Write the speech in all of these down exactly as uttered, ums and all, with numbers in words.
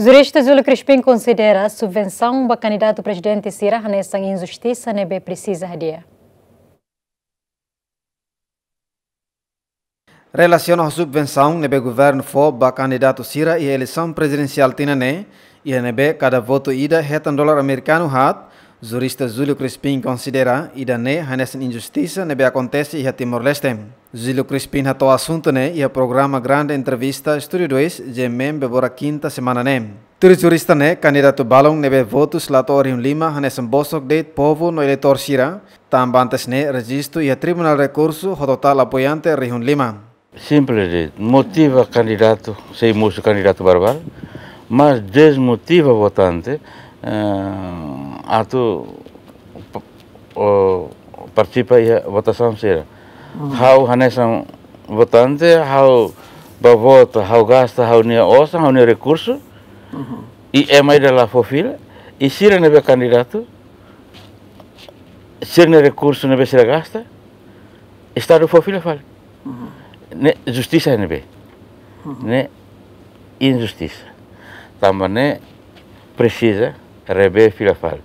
Jurista Júlio Crispim konsidera subvensaun ba kandidatu prezidente sira hanesan injustisa ne'ebé presiza hadi'a. Relasiona ho subvensaun ne'ebé governu fó ba kandidatu sira iha eleisaun prezidensiál tinan ne'e, iha ne'ebé kada votu ida hetan dolar amerikanu haat, jurista Júlio Crispim konsidera ida-ne'e hanesan injustisa ne'ebé akontese iha Timor-Leste. Júlio Crispim hato'o asuntu ne'e iha programa Grande Entrevista Estúdio dois, G M M Bebora Kinta semana ne'e. Tuir jurista ne'e, kandidatu balun ne'ebé votus la to'o rihun lima hanesan bosok de'it povu no eleitór sira, tanba antes ne'e rejistu iha Tribunál Rekursu ho totál apoiante rihun lima. Simples de'it, motiva kandidatu, sei mosu kandidatu barak-barak, mas dezmotiva votante, eh, atu p-, o, partisipa iha votasaun sira. Hmm. Ha'u hanesan votante, ha'u bá vota, ha'u gasta ha'u-nia osan, ha'u-nia rekursu, Mhm. i ema ida la fó fila, i sira ne'ebé kandidatu, sira-nia rekursu ne'ebé sira gasta, Estadu fó fila fali. Mhm. Ne'e justisa ne'ebé? Mhm. Ne'e injustisa. Tanba ne'e presiza rever fila fali.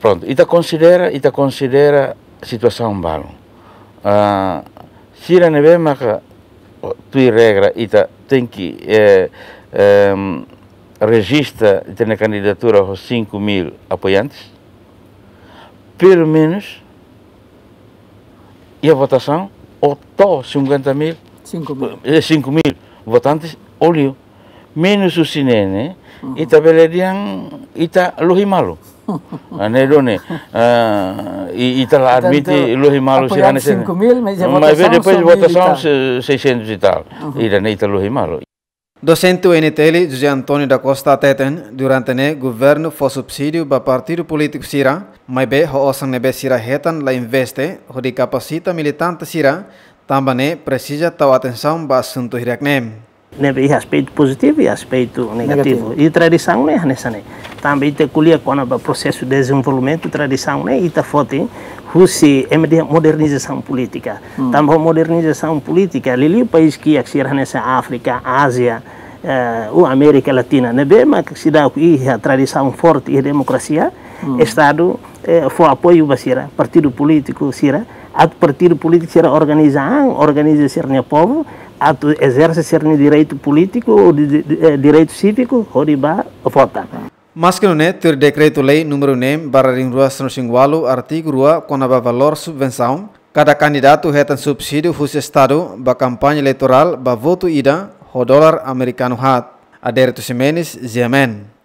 Prontu, ita konsidera, ita konsidera situasaun balun. Ah, sira ne'ebé maka, o, tuir regra ita tenke, eh, em, rejista ita-nia kandidatura ho cinco mil apoiantes. Pelumenus, iha votasaun, o to'o cinquenta mil, Cinco mil. eh, cinco mil votantes, o liu. Menus husi ne'e ne'e, Mhm. ita bele dehan, ita lohi malu. Ah, ne'e duni, ah, i-, ita la Portantu, admite lohi malu apoiante sira ne'e. Cinco mil, mas a Mas votasaun depois só mil e votasaun tal. se-, seiscentos e tal. Mhm. Ida-ne'e ita lohi malu. Dosente U N T L José António da Costa hateten, durante ne'e governu fó subsídiu ba partidu polítiku sira, maibé ho osan ne'ebé sira hetan la investe, hodi kapasita militante sira, tanba ne'e presiza tau atensaun ba asuntu hirak ne'e. Ne'ebé iha aspeitu pozitivu i aspeitu negativu. Negativu. I tradisaun ne'e hanesan ne'e. Tanba ita ko'alia kona-ba prosesu dezenvolvimentu, tradisaun ne'e ita foti husi, ema dehan modernizasaun polítika. Hmm. Tanba modernizasaun polítika, liuliu país kiak sira hanesan Áfrika, Ázia, eh, ou Amérika Latina, ne'ebé mak seidauk iha tradisaun forte iha demokrasia, Hmm. Estadu, eh, fó apoiu ba sira, partidu polítiku sira, atu partidu polítiku sira organiza an, organiza sira-nia povu, atu ezerse sira-nia direitu polítiku, ou di, di, eh, direitu síviku, hodi bá vota. Maske nune'e, tuir dekretu-lei númeru neen barra rihun rua sanulu-resin-ualu, artigu rua, kona-ba valór subvensaun, kada kandidatu hetan subsídiu husi Estadu ba kampaña eleitorál ba votu ida ho dolar amerikanu haat. Adérito Ximenes, G M N.